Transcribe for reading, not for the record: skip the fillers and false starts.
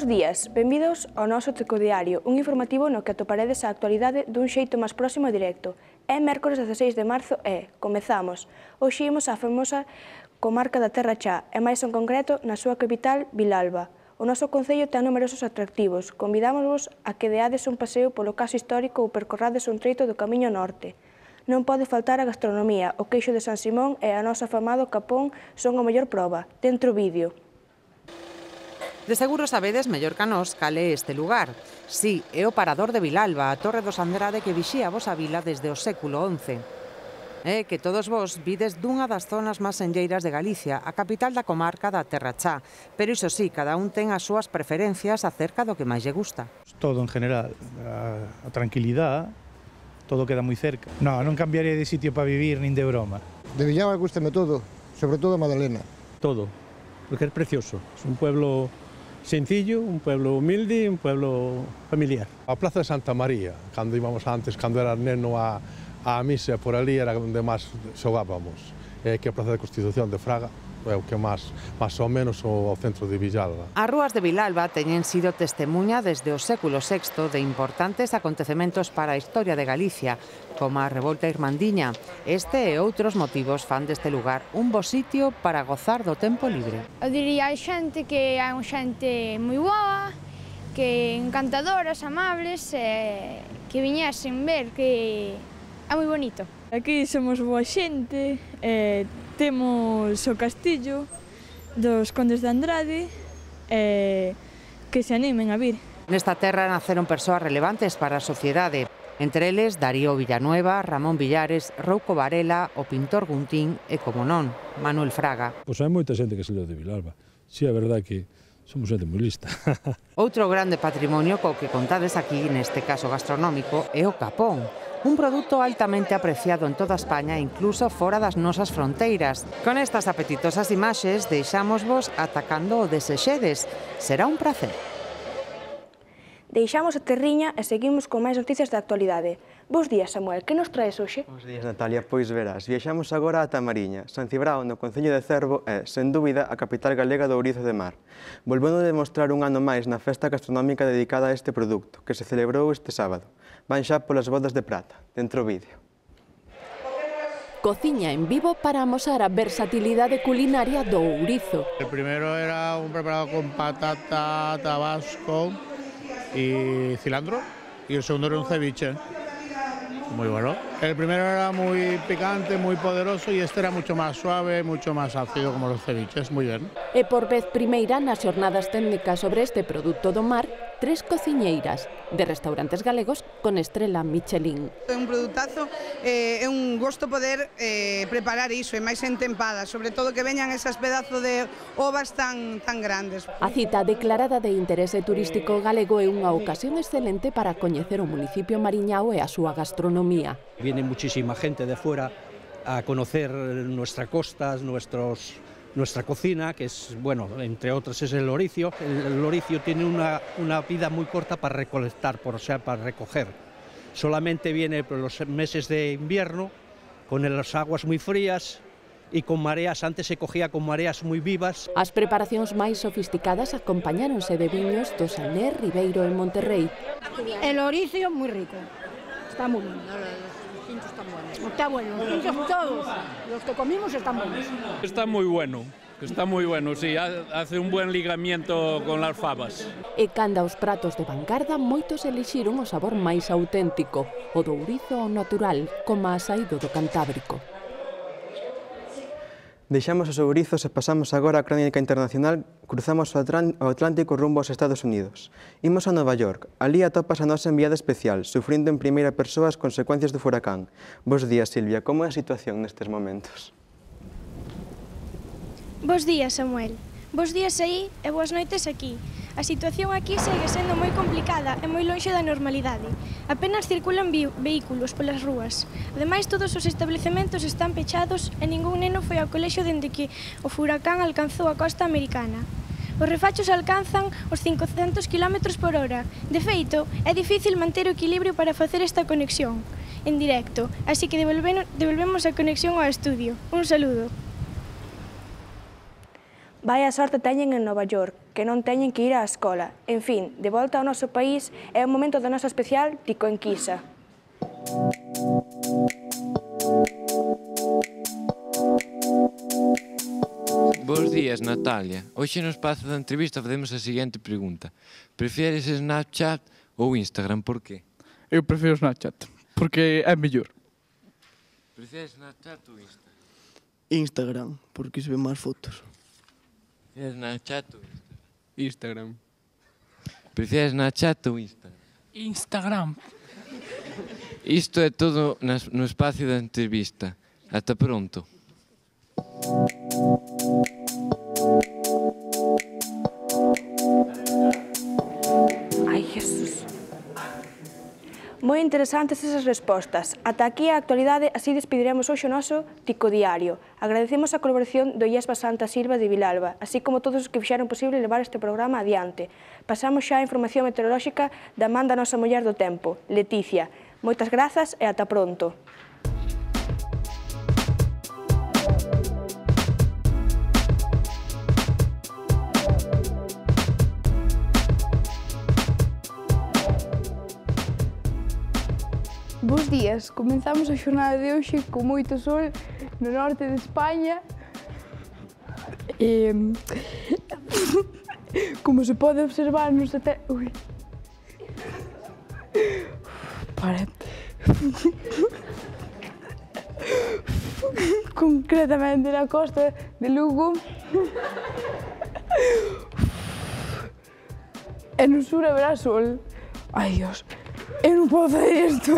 Bos días, benvidos ao noso Tecodiario, un informativo no que atoparedes a actualidade dun xeito máis próximo e directo. É mércores 16 de marzo e comezamos. Hoxe imos á famosa comarca da Terra Chá, e máis en concreto na súa capital, Vilalba. O noso concello ten numerosos atractivos. Convidámosvos a que deades un paseo polo caso histórico ou percorrades un treito do Camiño Norte. Non pode faltar a gastronomía, o queixo de San Simón e a noso afamado capón son a mellor proba. Dentro vídeo. De seguro sabedes mellor ca nós cal é este lugar. Sí, é o Parador de Vilalba, a Torre dos Andrade que vixía a vosa vila desde o século XI. É que todos vos vides dunha das zonas máis enlleiras de Galicia, a capital da comarca da Terra Chá. Pero iso sí, cada un ten as súas preferencias acerca do que máis lle gusta. Todo en general, a tranquilidade, todo queda moi cerca. Non cambiaría de sitio para vivir nin de broma. De Vilalba gústame todo, sobre todo Madalena. Todo, porque é precioso. É un pueblo sencillo, un pueblo humilde, un pueblo familiar. A Plaza de Santa María, cando íbamos antes, cando era neno a misa por ali, era onde máis xogábamos. É que a Plaza de Constitución de Fraga é o que máis ou menos o centro de Vilalba. As rúas de Vilalba teñen sido testemunha desde o século VI de importantes acontecementos para a historia de Galicia, como a Revolta Irmandiña. Este e outros motivos fan deste lugar un bo sitio para gozar do tempo libre. Eu diría a xente que hai xente moi boa, que encantadoras, amables, que viñesen ver, que é moi bonito. Aquí somos boa xente, temos o castillo dos Condes de Andrade, que se animen a vir. Nesta terra naceron persoas relevantes para a sociedade. Entre eles, Darío Villanueva, Ramón Villares, Rouco Varela, o pintor Guntín e, como non, Manuel Fraga. Pois hai moita xente que se leu de Vilalba. Si, é verdade que somos xente moi lista. Outro grande patrimonio co que contades aquí, neste caso gastronómico, é o capón. Un produto altamente apreciado en toda España e incluso fora das nosas fronteiras. Con estas apetitosas imaxes deixámosvos atacando o desexedes. Será un placer. Deixamos a terriña e seguimos con máis noticias da actualidade. Bos días, Samuel, que nos traes hoxe? Bos días, Natalia. Pois verás, viaxamos agora ata Mariña. San Cibrao, no concello de Cervo, é, sen dúbida, a capital galega do ourizo de mar. Volvendo a demostrar un ano máis na festa gastronómica dedicada a este produto, que se celebrou este sábado. Van xa polas bodas de prata. Dentro vídeo. Cociña en vivo para amosar a versatilidade culinaria do ourizo. El primero era un preparado con patata, tabasco y cilantro, y el segundo era un ceviche, muy bueno. El primero era muy picante, muy poderoso, y este era mucho más suave, mucho más ácido como los ceviches, muy bien. E por vez primeira nas xornadas técnicas sobre este produto do mar, 3 cociñeiras de restaurantes galegos con estrela Michelin. É un produtazo, é un gosto poder preparar iso, e máis entempada, sobre todo que veñan esas pedazos de ovas tan grandes. A cita declarada de interese turístico galego é unha ocasión excelente para coñecer o municipio mariñao e a súa gastronomía. Viene muchísima gente de fuera a conocer nuestra costa, nuestra cocina, que es, bueno, entre otras es el loricio. El loricio tiene una vida muy corta para recolectar, o sea, para recoger. Solamente viene por los meses de invierno, con las aguas muy frías y con mareas. Antes se cogía con mareas muy vivas. As preparacións máis sofisticadas acompañáronse de viños do Saler, Ribeiro e Monterrey. El loricio muy rico, está muy bien. Está bueno, los pinchos todos, los que comimos están buenos. Está muy bueno, sí, hace un buen ligamiento con las fabas. E canda os pratos de vanguarda, moitos elixiron o sabor máis auténtico, o do ourizo ao natural, como a saído do Cantábrico. Deixamos os ourizos e pasamos agora á crónica internacional, cruzamos o Atlántico rumbo aos Estados Unidos. Imos a Nova York, ali atopas a nosa enviada especial, sufrindo en primeira persoa as consecuencias do furacán. Bos días, Silvia, como é a situación nestes momentos? Bos días, Samuel. Bos días aí e boas noites aquí. A situación aquí segue sendo moi complicada e moi lonxe da normalidade. Apenas circulan vehículos polas rúas. Ademais, todos os establecementos están pechados e ningún neno foi ao colexio dende que o furacán alcanzou a costa americana. Os refachos alcanzan os 500 km/h. De feito, é difícil manter o equilibrio para facer esta conexión en directo, así que devolvemos a conexión ao estudio. Un saludo. Vai a sorte teñen en Nova York, que non teñen que ir á escola. En fin, de volta ao noso país, é o momento da nosa especial Tico Enquisa. Bos días, Natalia. Hoxe no espazo da entrevista facemos a seguinte pregunta. Prefieres Snapchat ou Instagram? Por qué? Eu prefiro Snapchat, porque é mellor. Prefieres Snapchat ou Instagram? Instagram, porque se ven máis fotos. Prefieres Snapchat ou Instagram? Instagram. Prefieres Snapchat ou Instagram? Instagram. Isto é todo no espacio da entrevista. Ata pronto. Ai, Jesús. Moi interesantes esas respostas. Ata aquí a actualidade, así despediremos hoxe o noso Tico Diario. Agradecemos a colaboración do IESBA Santa Silva de Vilalba, así como todos os que fixeron posible levar este programa adiante. Pasamos xa a información meteorolóxica da man da nosa muller do tempo, Leticia. Moitas grazas e ata pronto. Bos días, comenzamos a xornada de hoxe con moito sol no norte de España. Como se pode observar nos satélites... Concretamente na costa de Lugo. E no sur haberá sol. Ai, Dios. Eu non podo fazer isto,